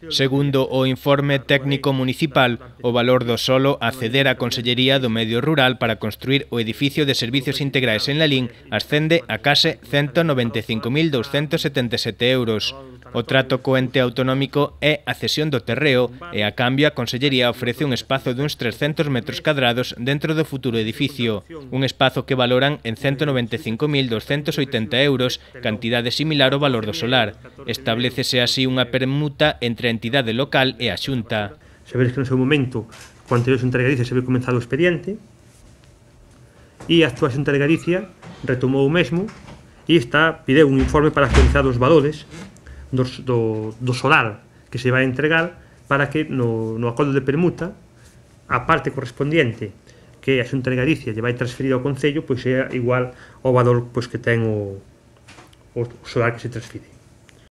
Segundo o informe técnico municipal, o valor do solo a ceder á Consellería do Medio Rural para construir o edificio de servicios integrais en Lalín ascende a case 195.277 euros. O trato co ente autonómico é a cesión do terreo e, a cambio, a Consellería ofrece un espazo de uns 300 metros cadrados dentro do futuro edificio, un espazo que valoran en 195.280 euros, cantidade similar ao valor do solar. Establécese así unha permuta entre a entidade local e a Xunta. Sabedes que no seu momento, co anterior Xunta de Galicia, se había comenzado o expediente e a actual Xunta de Galicia retomou o mesmo e pideu un informe para actualizar os valores do solar que se vai entregar para que no acordo de permuta a parte correspondiente que a Xunta de Galicia lle vai transferir ao Concello pois sea igual ao valor pois que ten o solar que se transfire.